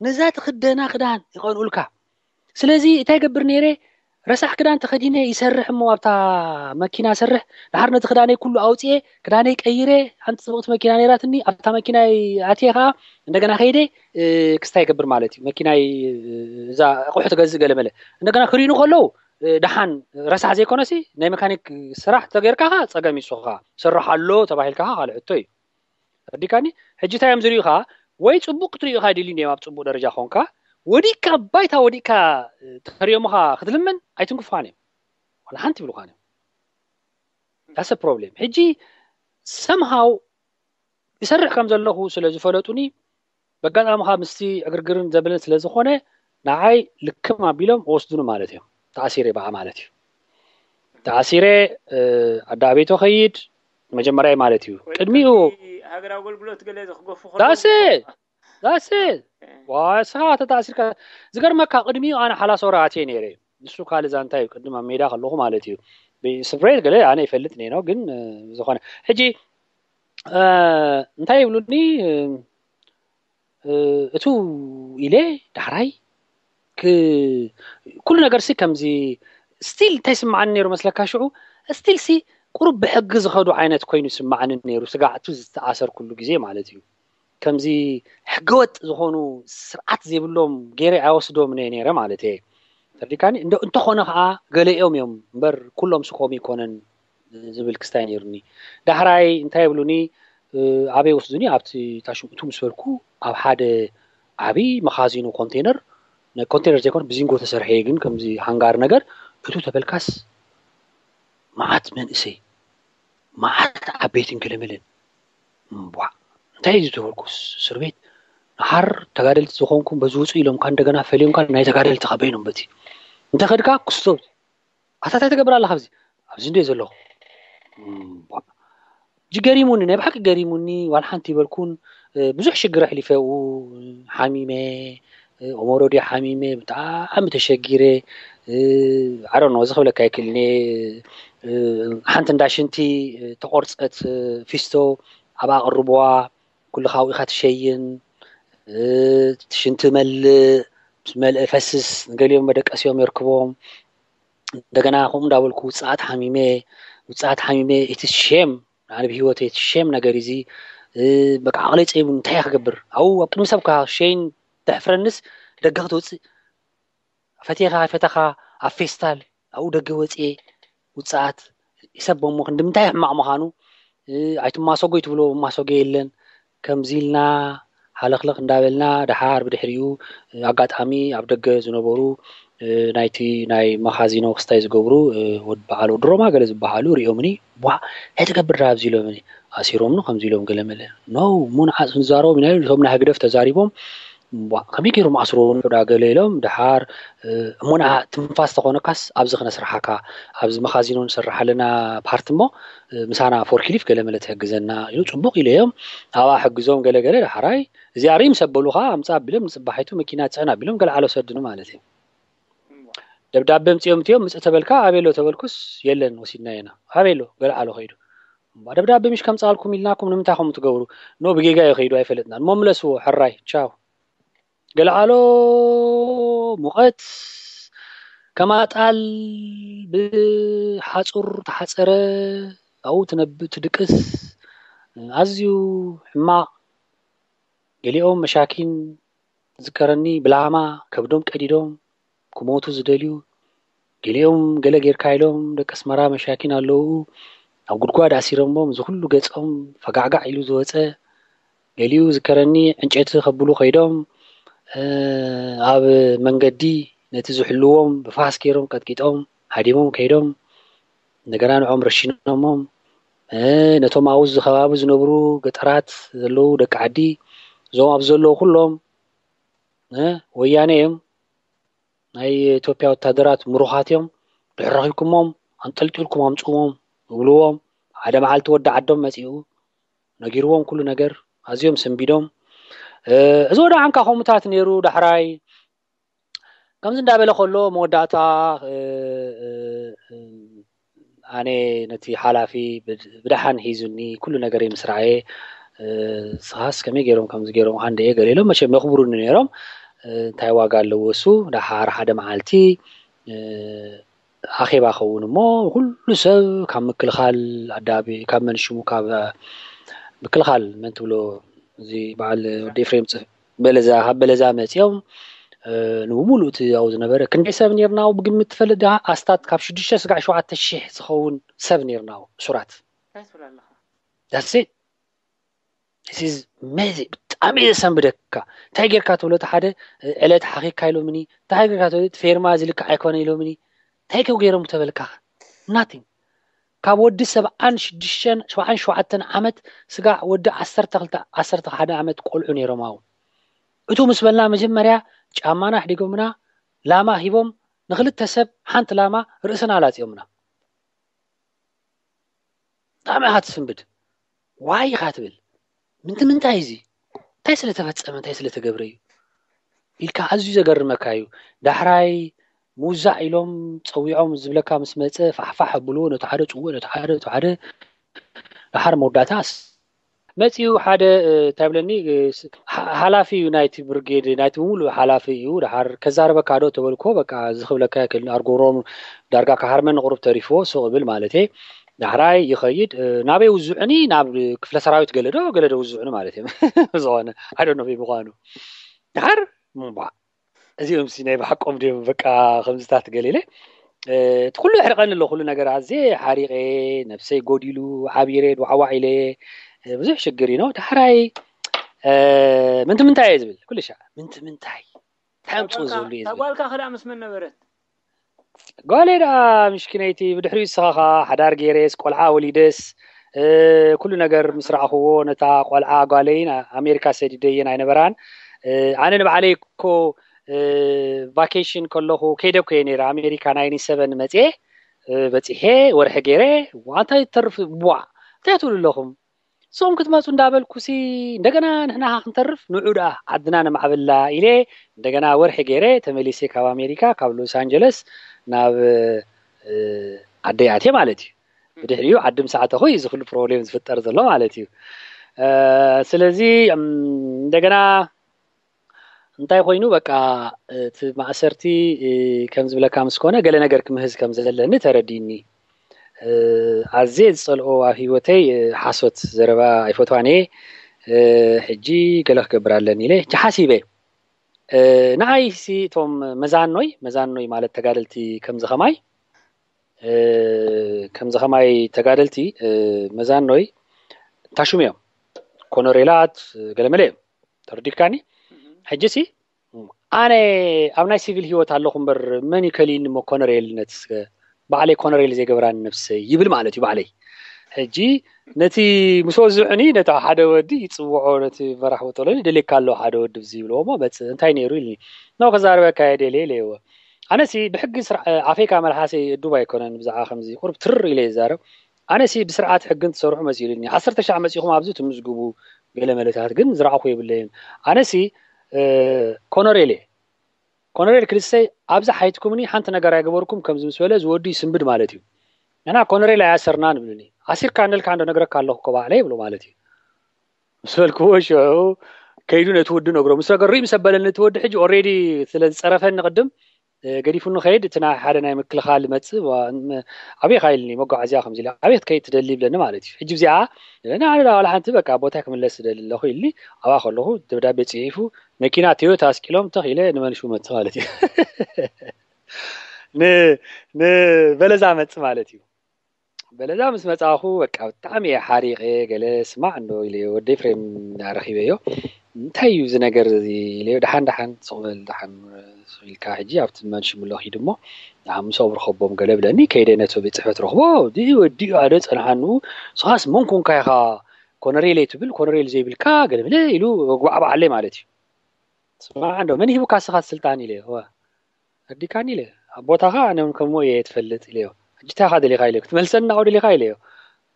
ነዛ ትኽደና ክዳን ይቐንኡልካ። ስለዚ እንታይ ገብር ነይረ? ረሳሕ ክዳን ተኸዲነ ይሰርሕ እሞ ኣብታ መኪና ሰርሕ። ድሓር ነቲ ክዳነይ ኩሉ ኣውፅኤ፣ ክዳነይ ቀይረ። ሓንቲ ፅብቕቲ መኪና ነይራትኒ። ኣብታ መኪና ኣትየ ከዓ እንደገና ከይደ ክስታይ ይገብር ማለት እዩ። መኪናይ እዛ ኣቑሑ ትገዝእ ገለመለ እንደገና ክሪኑ ከለዉ ደሓን ረሳሕ ዘይኮነሲ ናይ መካኒክ ስራሕ ተገይርካ ከዓ ፀገም ይሱኻ ሰርሕ ኣሎ ተባሂልካ ከዓ ካልእ ሕቶ እዩ። ተረዲካኒ? ሕጂ እንታይ እዮም ዝሪኡ ከዓ ወይ ፅቡቅ ክትሪኡ ከዓ ድልዩ እዮም ኣብ ፅቡቅ ደረጃ ኮንካ ወዲቅካ ባይታ ወዲቅካ ተሪኦምኻ ክትልምን ኣይትንክፉኻን እዮም። ዋላ ሓንቲ ይብሉኻን እዮም። ዳሰ ፕሮብሌም ሕጂ ሰምሃው ይሰርሕ ከም ዘለኹ ስለ ዝፈለጡኒ በጋጣሚ ካብ ምስቲ ዕግርግርን ዘበለን ስለ ዝኾነ ንዓይ ልክም ኣቢሎም ወስዱኒ ማለት እዮም። ተኣሲረ በዓ ማለት እዩ። ተኣሲረ ኣዳቤቶ ከይድ መጀመርያ ማለት እዩ። ቅድሚኡ ሃገር ኣገልግሎት ገለ ዝክገፉ ዳስ ዳስ ዋስኻ ተታእሲርካ ዝገርመካ ቅድሚኡ ኣነ ሓላሶ ራእትየ ነይረ። ንሱ ካልእ ዛንታ እዩ። ቅድም ኣብ ሜዳ ከለኹ ማለት እዩ። ስፍሬት ገለ ኣነ ይፈልጥ ነይኖ ግን ዝኾነ ሕጂ እንታይ ይብሉኒ እቱ ኢለ ዳሕራይ ኩሉ ነገር ሲ ከምዚ ስቲል እንታይ ስምዓኒ ነይሩ መስለካ ሽዑ ስቲል ሲ ቁሩብ ብሕጊ ዝኸዱ ዓይነት ኮይኑ ስምዓኒ ነይሩ። ስጋዕቱ ዝተኣሰርኩሉ ግዜ ማለት እዩ። ከምዚ ሕገወጥ ዝኾኑ ስርዓት ዘይብሎም ገይረ ኣይወስዶም እየ ነይረ ማለት እየ። ተርዲካኒ እንተኾነ ከዓ ገለኦም እዮም እምበር ኩሎም ስኮም ይኮነን ዝብል ክስታይ ነይሩኒ። ዳሕራይ እንታይ ይብሉኒ ኣበይ ወስዱኒ ኣብቲ ታሽምቱ ምስ በልኩ ኣብ ሓደ ዓብዪ መኻዚኖ ኮንቴነር ኮንቴነር ዘይኮነ ብዚንጎ ተሰርሐ ግን ከምዚ ሃንጋር ነገር እቱ ተበልካስ መዓት መንእሰይ መዓት ዓበይትን ገለመለን እምቧ እንታይ እዩ ዝተበልኩ እስር ቤት ንሓር ተጋደልቲ ዝኾንኩም በዚ ውፁ ኢሎምካ እንደገና ፈሊዮምካ ናይ ተጋደልቲ ከበይኖም በቲ እንተኸድካ ክስቶ ኣታ እንታይ ትገብር ኣለኻ ኣብዚ ኣብዚ እንደ ዘለኹ ጅገሪሙኒ ናይ ብሓቂ ገሪሙኒ ዋላ ሓንቲ ይበልኩን ብዙሕ ሽግር ኣሕሊፈ ሓሚመ ኦሞሮዲ ሓሚመ ብጣዕሚ ተሸጊረ ኣሮ እዚ ክብለካ ይክእልኒ ሓንቲ እንዳ ሽንቲ ተቆርፀት ፊስቶ ኣብ ኣቅርብዋ ኩሉ ካውኢኻ ትሸይን ሽንቲ መልእ ምስ መልእ ፈስስ ንገሊኦም መደቀሲኦም የርክቦም እንደገና ከምኡ እንዳበልኩ ውፅኣት ሓሚመ ውፅኣት ሓሚመ እቲ ሼም ኣነ ብሂወተይ እቲ ሼም ነገር እዚ በቃ ዓቕለይ ፀይቡ እንታይ ክገብር ኣብኡ ኣብ ቅድሚ ሰብ ሸይን ተሕፍረንስ ደገ ክትወፅእ ፈቴኻ ፈተኻ ኣብ ፌስታል ኣብኡ ደገ ወፅኤ ውፅኣት ይሰቦሞ ክንዲ ምንታይ ሕማቕ ምዃኑ ኣይትማሰጎ ይትብሎ ማሰጎ የለን ከምዚ ኢልና ሃለኽለኽ እንዳበልና ደሓር ብድሕሪኡ ኣጋጣሚ ኣብ ደገ ዝነበሩ ናይቲ ናይ መኻዚኖ ክስታይ ዝገብሩ ወድ በዓል ወዲ ሮማ ገለ ዝበሃሉ ሪኦምኒ ቧዕ እንታይ ትገብር ዳ ኣብዚ ኢሎምኒ ኣሲሮምኒ ከምዚ ኢሎም ገለ መለ ኖ ሙንዓፅ ክንዛረቦም ኢና ኢሉ እቶም ናይ ህግደፍ ተዛሪቦም ከመይ ገይሮም ኣስርዎ ንዑዳ ገለ ኢሎም ድሓር እሞ ንዓ ትንፋስ ተኾነካስ ኣብዚ ክነስርሓካ ኣብዚ መኻዚኖ ንሰርሕ ኣለና ፓርቲ እሞ ምሳና ፎርክሊፍ ገለ መለ ትሕግዘና ኢሉ ፅቡቕ ኢለዮም ኣብኣ ሕግዞም ገለ ገለ ዳሕራይ እዚኣ ሪም ሰበሉኻ ኣምፃ ኣቢሎም ንፅባሒቱ መኪና ፅዕን ኣቢሎም ገለ ዓሎ ሰድኑ ማለት እዩ ደብዳቤ ምፅኦም እትዮም ምፅእ ተበልካ ኣበይ ኣሎ ተበልኩስ የለን ወሲድና ኢና ኣበይ ኣሎ ገለ ዓሎ ከይዱ ደብዳቤ ምሽ ከምፃልኩም ኢልናኩም ንምንታይ ከምኡ ትገብሩ ኖ ብጌጋ እዩ ከይዱ ኣይፈለጥናን እሞ ምለስዎ ሕራይ ቻው ገለዓሎ ሙቐት ከማጣል ብሓፁር ተሓፀረ ኣብኡ ትነብ ትድቅስ ኣዝዩ ሕማቕ ገሊኦም መሻኪን ዝከረኒ ብላማ ከብዶም ቀዲዶም ክሞቱ ዝደልዩ ገሊኦም ገለ ጌርካ ኢሎም ደቂ ኣስመራ መሻኪን ኣለዉ፣ ኣብ ጉድጓድ ኣሲሮሞም፣ እዚ ኩሉ ገጾም ፈጋዕጋዕ ኢሉ ዝወጸ። ገሊኡ ዝከረኒ ዕንጨይቲ ከብሉ ከይዶም፣ እ፣ ኣብ መንገዲ ነቲ ዝሕልዎም ብፋስ ገይሮም ቀጥቂጦም ሃዲሞም ከይዶም፣ እንደገና ንዖም ረሺኖሞም፣ እ፣ ነቶም ኣብኡ ዝከባቢ ዝነብሩ ገጠራት ዘለዉ ደቂ ዓዲ፣ እዞም ኣብ ዘለዉ ኩሎም፣ እ፣ ወያነ እዮም፣ ናይ ኢትዮጵያ ወታደራት ምሩኻት እዮም፣ ድሕሪ ረኺብኩሞም ኣንጠልጢልኩም ኣምጽዎም ይብልዎም። ሓደ መዓልቲ ወዲ ዓዶም መጺኡ ነጊርዎም ኩሉ ነገር፣ ኣዝዮም ሰንቢዶም። እ፣ እዚ ወደ ዓንካ ከምኡታት ነይሩ። ዳሕራይ ከምዚ እንዳበለ ከሎ መወዳእታ፣ እ፣ እ፣ እ፣ ኣነ ነቲ ሓላፊ ብድ-፣ ብደሓን ሒዙኒ፣ ኩሉ ነገረይ ምስ ረኣየ፣ እ፣ "ንስኻስ ከመይ ገይሮም ከምዚ ገይሮም ሃንደየ?" ገለ ኢሎም መቸም የኽብሩኒ ነይሮም። እ፣ እንታይ ዋጋ ኣለዎ እሱ? ደሓር ሓደ መዓልቲ፣ እ፣ ኣኼባ ኸውን እሞ፣ ኩሉ ሰብ ካብ ምክልኻል ኣዳቢ-፣ ካብ መን ሽሙ፣ ካብ ምክልኻል መን ትብሎ፣ እዚ በዓል ወዲ ኤፍሬም ጽ-፣ በለዛ፣ ካብ በለዛ መጺኦም፣ እ፣ ንብሙሉእ እቲ ኣብኡ ዝነበረ ክንደይ ሰብ ነይርና ኣብኡ ብግምት ትፈልጥ ዲኻ? ኣስታት ካብ ሽዱሽተ ስጋዕ ሸውዓተ ሺሕ ዝኸውን ሰብ ነይርና ኣብኡ፣ እሱራት። እንታይ ትብል ኣለኻ? That's it. This is amazing. ብጣዕሚ እዩ ዘሰንብደካ። እንታይ ጌርካ ትብሎ፣ እቲ ሓደ፣ እ፣ ዕለት ሓኺካ ኢሎምኒ፣ እንታይ ጌርካ ትብሎ፣ እቲ ፌርማ እዚ ልክዕ ኣይኮነ ኢሎምኒ፣ እንታይ ከ ገይሮም ተበልካ? Nothing. ካብ ወዲ ሰብዓን ሽዱሽተን፣ ሰብዓን ሸውዓተን ዓመት ስጋዕ ወዲ ዓሰርተ ክልተ፣ ዓሰርተ ሓደ ዓመት ቆልዑ ነይሮም ኣብኡ። እቱ ምስ በልና መጀመርያ ጫማና ኣሕዲጎምና፣ ላማ ሂቦም፣ ንክልተ ሰብ ሓንቲ ላማ ርእስና ኣላጺኦምና። ብጣዕሚ ኢኻ ትስንብድ። ዋይ ኢኻ ትብል። ምንቲ ምንታይ እዚ? እንታይ ስለ ተፈጸመ፣ እንታይ ስለ ተገብረ እዩ? ኢልካ ኣዝዩ ዘገርመካ እዩ። ዳሕራይ ምውዛዕ ኢሎም ጸዊዖም ዝብለካ ምስ መጸ፣ ፋሕፋሕ ኣብልዎ፣ ነቲ ሓደ ጽውዕ፣ ነቲ ሓደ፣ ነቲ ሓደ። ደሓር መወዳእታስ መጺኡ ሓደ፣ እ፣ እንታይ ብለኒ፣ እ፣ ስ-፣ ሓ-፣ ሓላፊ እዩ ናይቲ ብርጌድ፣ ናይቲ ብምሉእ ሓላፊ እዩ። ደሓር "ከዛርበካ ዶ?" ተበልኮ፣ በቃ፣ እዚ ክብለካ ኣይክእልን። ኣርጎሮም ዳርጋ ክሃርመኒ ቁሩብ ተሪፍዎ፣ ሱቕ እብል ማለተይ። ዳሕራይ ይኸይድ፣ እ፣ ናበይ ውዝዑኒ? ናብ ክፍለ ሰራዊት ገለ ዶ፣ ገለ ዶ ውዝዑኒ ማለት እዮም። ዝኾነ፣ I don't know ምዃኑ። ደሓር፣ እምቧ፣ እዚኦም ሲ ናይ ብሓቆም ድዮም? በቃ፣ ከምዚታት ገለ ኢለ፣ እ፣ እቲ ኩሉ የሕርቐኒ ኣሎ፣ ኩሉ ነገር ኣዝየ ሓሪቐ፣ ነብሰይ ጎዲሉ፣ ዓቢረ፣ ድዋዕዋዕ ኢለ፣ እ፣ ብዙሕ ሽግር እዩ ነው። ዳሕራይ፣ እ፣ ምንቲ ምንታይ እየ ዝብል? ኩሉ ሻዕ፣ ምንቲ ምንታይ? እንታይ ኣምጽኡ ዝብሉ እየ ዝብል። ጓልካ ከ ደኣ ምስ መን ነበረት? ጓለይ ደኣ ምሽኪነይቲ፣ ብድሕሪኡ ንስኻ ኸኣ ሓዳር ገይረስ፣ ቆልዓ ወሊደስ፣ እ፣ ኩሉ ነገር ምስ ረኣኽዎ፣ ነታ ቆልዓ ጓለይ ና-፣ ኣሜሪካ ሰዲደየን ኣይነበራን። እ፣ ኣነ ንባዕለይ እኮ፣ እ፣ ቫኬሽን ከለኹ ከይደ እኮ እየ ነይረ፣ ኣሜሪካ ናይንቲ ሰቨን መጽየ፣ እ፣ በጺሐ፣ ወርሒ ገይረ፣ ዋእ፣ እንታይ ይተርፍ፣ ዋእ፣ እንታይ ትብሉ ኣለኹም? ንስኹም ክትመጹ እንዳበልኩሲ፣ እንደገና ንሕና ኸኣ ክንተርፍ፣ ንዑ ደኣ ዓድና ነማዕብላ ኢለ፣ እንደገና ወርሒ ገይረ ተመሊሰ ካብ ኣሜሪካ፣ ካብ ሎስ ኣንጀለስ ናብ፣ እ፣ ዓደይ ኣትየ ማለት እዩ። ብድሕሪኡ ዓዲ ምስ ኣተኹ እዩ እዚ ኩሉ ፕሮብሌም ዝፍጠር ዘሎ ማለት እዩ። እ፣ ስለዚ፣ እም፣ እንደገና እንታይ ኮይኑ፣ በቃ፣ እቲ ማእሰርቲ፣ እ፣ ከም ዝብለካ ምስ ኮነ፣ ገለ ነገር ክምህዝ ከም ዘለኒ ተረዲእኒ። እ፣ ኣዝየ ዝጸልኦ ኣብ ህይወተይ፣ እ፣ ሓሶት ዘረባ ኣይፈትዋን እየ። እ፣ ሕጂ ገለ ክገብር ኣለኒ ኢለ ሕጂ ሓሲበ። እ፣ ንዓይሲ እቶም መዛኖይ፣ መዛኖይ ማለት ተጋደልቲ ከምዚ ኸማይ፣ እ፣ ከምዚ ኸማይ ተጋደልቲ፣ እ፣ መዛኖይ ታሹም እዮም። ኮኖሬላት፣ ገለመለ እዮም። ተረዲእካኒ? ሕጂሲ ኣነ ኣብ ናይ ሲቪል ህይወት ኣለኹ እምበር፣ መን እዩ ከሊኒ እሞ ኮነሬልነት? እስከ ባዕለይ ኮነሬል ዘይገብራኒ ነብሰይ ይብል ማለት እዩ ባዕለይ። ሕጂ ነቲ ምስ ወዝዑኒ ነቲ ሓደ ወዲ ይጽውዖ፣ ነቲ መራሕ ወጠሎኒ ደልየካ ኣሎ ሓደ ወዲ ብዚ ይብልዎ እሞ መጽእ፣ እንታይ ነይሩ ኢልኒ። ኖ፣ ክዛረበካ እየ ደልየ ኢለዎ። ኣነሲ ብሕጊ ስርዓ-፣ ኣፈይ ካብ መልሓሰይ እዱብ ኣይኮነን፣ ብዛዕባ ከምዚ ቁሩብ ትርር ኢለ ይዛረብ። ኣነሲ ብስርዓት ሕግን ትሰርሑ መሲሉኒ። ዓሰርተ ሻዕ መጺኹም ኣብዚ ትምዝግቡ ገለ መለታት ግን ዝረኣኹ የብለይን። ኣነሲ፣ እ፣ ኮነሬል እየ። ኮነሬል ክልሰይ ኣብዚ ሓይትኩምኒ ሓንቲ ነገር ኣይገበርኩም ከምዚ ምስ በለ ዝወዲ ይስንብድ ማለት እዩ። ንሕና ኮነሬል ኣያሰርናን ይብሉኒ። ኣሲርካ እንደልካ እንዶ ነግረካ ኣለኹ እኮ ባዕለይ ይብሎ ማለት እዩ። ምስ በልክዎ ሽዑ ከይዱ ነቲ ወዲ ነግሮ። ምስ ነገሩ ምስ ኣበለኒ እቲ ወዲ ሕጂ ኦሬዲ ስለ ዝጸረፈኒ ቅድም፣ እ፣ ገዲፉኒ ከይድ፣ እቲ ናይ ሓደ ናይ ምክልኻል ይመጽእ፣ ዋ-፣ ም-፣ ኣበይ ኢኻ ኢልኒ፣ መጓዓዝያ ከምዚ ኢለ፣ ኣበይ ክትከይድ ትደሊ ይብለኒ ማለት እዩ። ሕጂ እዚኣ፣ እነ ኣነ ዋላ ሓንቲ በቃ ቦታይ ክምለስ ትደሊ ኣለኹ ኢልኒ፣ ኣብኣ ከለኹ ደብዳቤ ጽሒፉ፣ መኪና ቶዮታ ኣስቂሎም ተኽ ኢለ ንመንሽቡ መጽእ ማለት እዩ። ን- ንበለዛ መጽ ማለት እዩ። በለዛ ምስ መጻኹ በቃ ብጣዕሚ እየ ሓሪቐ። ገለ ስማዕ እንዶ ኢለ ወዲ ኤፍሬም ረኺበዮ። እንታይ እዩ እዚ ነገር እዚ ኢለዮ። ደሓን ደሓን ስቕ በል ደሓን ኢልካ ሕጂ ኣብቲ መንሽምሎ ኪድ እሞ ደሓን ምስኦም ርኸቦም ገለ ብለኒ። ከይደ ነቶ ቤት ጽሕፈት ረኽቦ። እዚ ወዲኡ ኣደ ጸንሓኑ። ስኻስ መን ኮንካ ኢኻ ኮነሬል ትብል ኮነሬል ዘይብልካ ገለ ብለ ኢሉ ጓዕባዓለይ ማለት እዩ። ስማዕ እንዶ መን ሂቡካ ስኻ ስልጣን ኢለ ወ ኣዲካኒ ኢለ ኣብ ቦታኻ ኣነ እውን ከምኡ እየ ትፈልጥ ኢለዮ። ሕጂ እንታይ ኢኻ ደሊኻ ኢለዮ ክትመልሰኒ ናብኡ ደሊኻ ኢለዮ።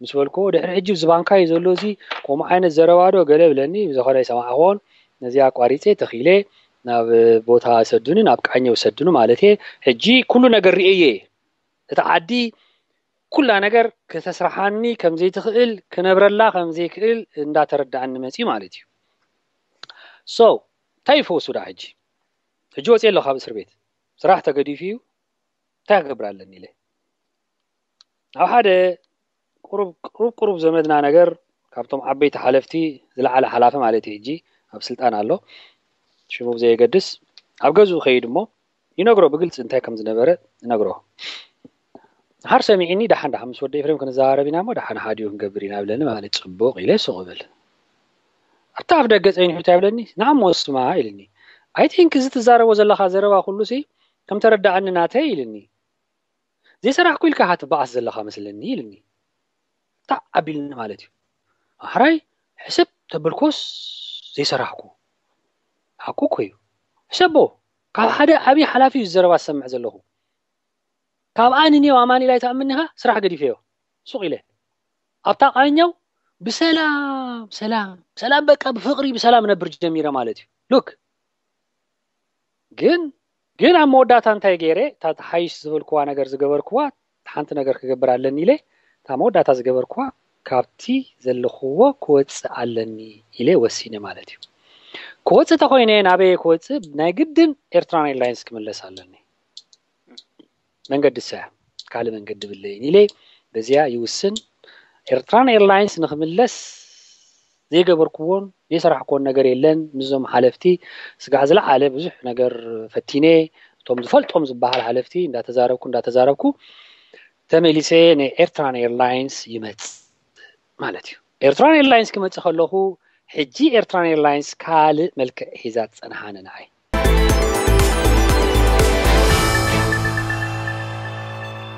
ምስ በልኩዎ ድሕሪ ሕጂ ዝባንካ እዩ ዘሎ እዚ ከምኡ ዓይነት ዘረባዶ ገለ ብለኒ ብዝኾነ ይሰማዕኽዎን ነዚ ኣቋሪፀ ተኺለ ናብ ቦታ ሰዱኒ ናብ ቃኘው ሰዱኒ ማለት እየ። ሕጂ ኩሉ ነገር ርእየ እየ እቲ ዓዲ ኩላ ነገር ከተስርሓኒ ከምዘይትኽእል ክነብረላ ከምዘይክእል እንዳተረዳእኒ መፅዩ ማለት እዩ። ሶ እንታይ ይፈውሱ ዳ ሕጂ ሕጂ ወፅየ ኣለኹ ካብ እስር ቤት ስራሕ ተገዲፉ እዩ። እንታይ ክገብር ኣለኒ ኢለ ኣብ ሓደ ቁሩብ ቁሩብ ቁሩብ ዘመድና ነገር ካብቶም ዓበይቲ ሓለፍቲ ዝለዓለ ሓላፊ ማለት እዩ ሕጂ ኣብ ስልጣን ኣሎ ሽሙ ብዘየገድስ ኣብ ገዝኡ ከይድ እሞ ይነግሮ ብግልፂ እንታይ ከም ዝነበረ ይነግሮ። ሓር ሰሚዒኒ ደሓን ደሓን ምስ ወዲ ኤፍሬም ክንዘራረብ ኢና እሞ ደሓን ሓዲኡ ክንገብር ኢና ብለኒ ማለት ፅቡቕ ኢለ ሱቕ ብል ኣብቲ ኣፍ ደገ ፀኒሑ እንታይ ብለኒ ንዓሞ ስማ ኢልኒ። I think እዚ ትዛረቦ ዘለኻ ዘረባ ኩሉ ሲ ከም ተረዳኣኒ ናተይ ኢልኒ። ዘይሰራሕኩ ኢልካ ኢኻ ትበኣስ ዘለኻ መስለኒ ኢልኒ። ታዕ ኣቢልኒ ማለት እዩ። ኣሕራይ ሕስብ ተበልኮስ ዘይሰራሕኩ ሓቁ እኮ እዩ። ሕሰቦ ካብ ሓደ ዓብዪ ሓላፊ እዩ ዘረባ ዝሰምዕ ዘለኹ። ካብ ኣንኔው ኣማኒላይ ትኣምኒኻ ስራሕ ገዲፈዮ ሱቕ ኢለ ኣብታ ቃኘው ብሰላም ሰላም ሰላም በቃ ብፍቕሪ ብሰላም ነብር ጀሚረ ማለት እዩ። ሉክ ግን ግን ኣብ መወዳእታ እንታይ ገይረ እታ ተሓይሽ ዝበልክዋ ነገር ዝገበርክዋ ሓንቲ ነገር ክገብር ኣለኒ ኢለ እታ መወዳእታ ዝገበርክዋ ካብቲ ዘለኽዎ ክወፅእ ኣለኒ ኢለ ወሲነ ማለት እዩ። ክወፅእ ተኮይነ ናበየ ክወፅእ ናይ ግድን ኤርትራን ኤርላይንስ ክምለስ ኣለኒ። መንገዲ ሰ ካልእ መንገዲ ብለይን ኢለ በዚያ ይውስን። ኤርትራን ኤርላይንስ ንክምለስ ዘይገበርክዎን ዘይሰራሕክዎን ነገር የለን። ምስዞም ሓለፍቲ ስጋዕ ዝለዓለ ብዙሕ ነገር ፈቲነ እቶም ዝፈልጦም ዝበሃል ሓለፍቲ እንዳተዛረብኩ እንዳተዛረብኩ ተመሊሰ ንኤርትራን ኤርላይንስ ይመጽእ ማለት እዩ። ኤርትራን ኤርላይንስ ክመጽእ ከለኹ ሕጂ ኤርትራን ኤርላይንስ ካልእ መልክዕ ሒዛ ዝጸንሓ ንዓይ